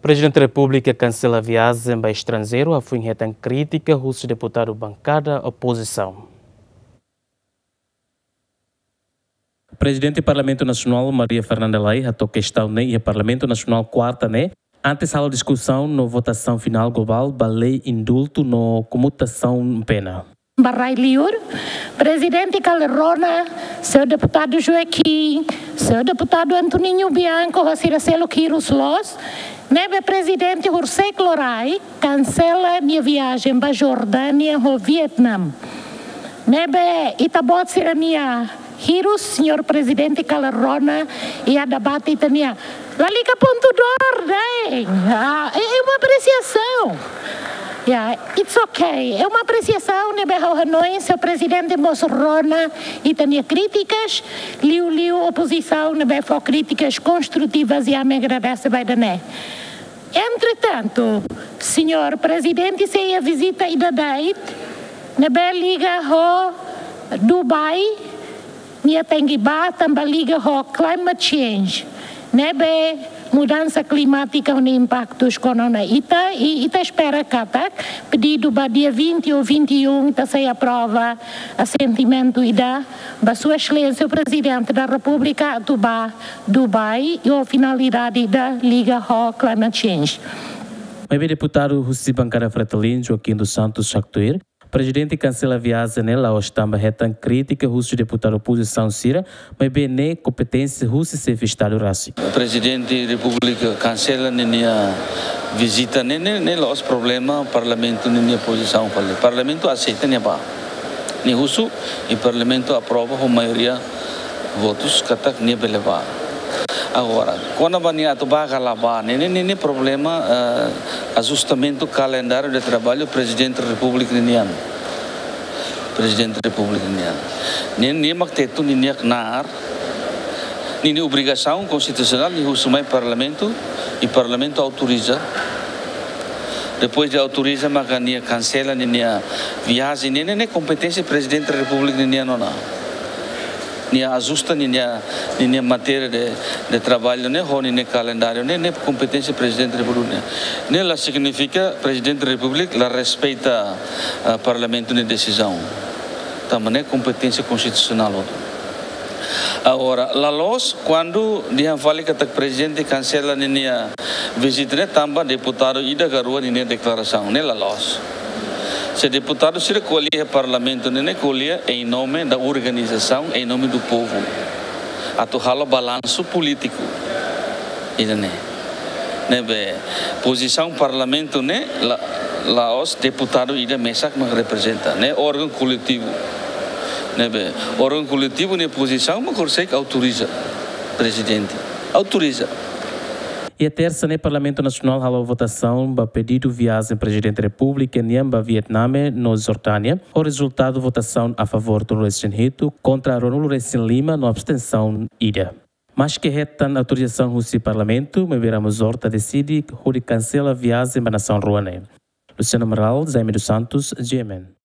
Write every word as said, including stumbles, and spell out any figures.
Prezidente Repúblika kansela viajen ba estranjeiru, hafoin hetan krítika husi deputadu bankada opozisaun. Prezidente Parlamentu Nasionál Maria Fernanda Lay hato'o kestaun ne'e iha Parlamentu Nasionál kuarta ne'e, antes halo diskusaun no votasaun finál globál ba lei indultu no komutasaun pena. Ba rai-li'ur, Prezidente kala rona, señór deputadu Joaquim, señór deputadu Antoninho Bianco, ho sira seluk hirus loos, ne'ebé Prezidente horiseik lorokraik kansela nia viajen ba Jordánia ho Vietname. Ne'ebé ita-boot sira-nia hirus, señór Prezidente kala rona, iha debate ita-nian. Lalika pontu dór, dai. Ah, é, é uma apreciação. Yeah, it's okay. É uma apreciação, ne'ebé ha'u hanoin, señór Prezidente mós rona ita-nia krítikas, liuliu opozisaun ne'ebé fó krítikas konstrutivas i ami agradese ba ida-ne'e. Entretantu, señór Prezidente sei iha vizita ida de'it, ne'ebé liga ho Dubai, nia tenke ba tanba liga ho climate change. Ne'ebé mudansa klimátika ho nia impaktus kona-ba ita, i ita espera katak pedidu ba dia vinte ou vinte e um ita sei aprova asentimentu ida ba Sua Exelénsia Prezidente da Repúblika atu ba Dubai, ho finalidade ida liga ho climate change. Maibé deputadu husi bankada Fretilin, Joaquim dos Santos, haktuir, Prezidente kansela viajen ne'e la'ós tanba hetan krítika husi deputadu opozisaun sira, maibé ne'e kompeténsia husi xefe Estadu rasik. Prezidente Repúblika kansela ninia vizita ne'e, ne'e, ne'e la'ós problema Parlamentu ninia pozisaun fali. Parlamentu aseita nia ba. Nia husu, i Parlamentu aprova ho maioria votus katak nia bele ba. Agora, kona-ba nia atu ba ka la ba, ne'e, ne'e, ne'e, ne'e problema, eh, ajustamentu kalendáriu de traballu Prezidente Repúblika ninian. Prezidente Repúblika ninian. Ne'e, ne'e mak Tetun ninia knaar, ninia obrigasaun konstitusionál nia husu mai Parlamentu, i Parlamentu autoriza. Depois de autoriza, maka nia kansela ninia viajen, ne'e, ne'e, ne'e kompeténsia Prezidente Repúblika ninian ona. Nia ajusta ninia, ninia matéria de, de traballu ne'e, ho ninia kalendáriu ne'e, ne'e kompeténsia Prezidente Repúblika nian. Ne'e la signifika Prezidente Repúblika la respeita, ah, Parlamentu nia desizaun. Tanba ne'e kompeténsia konstitusionál hotu. Agora, la loos kuandu dehan fali katak Prezidente kansela ninia vizita ne'e tanba deputadu ida ka rua ninia deklarasaun, ne'e la loos. Se deputadu sira ko'alia iha Parlamentu ne'e, ne'e ko'alia em nome da organização, em nome do povo. Atu halo balansu polítiku. Ida-ne'e. Ne'ebé pozisaun Parlamentu ne'e la, la'ós deputadu ida mesak mak reprezenta. Ne'e órgaun koletivu. Ne'ebé órgaun koletivu nia pozisaun mak konsege autoriza Prezidente. Autoriza. Iha tersa ne'e Parlamentu Nasionál halo votasaun ba pedidu viajen Prezidente Repúblika nian ba Vietname no Jordánia, ho rezultadu votasaun a favór tolunulu-resin-hitu, kontra ruanulu-resin-lima no abstensaun ida. Maske hetan autorizasaun husi Parlamentu, maibé Ramos Horta deside hodi kansela viajen ba nasaun rua ne'e. Luciano Amaral, Jaime dos Santos, G M N.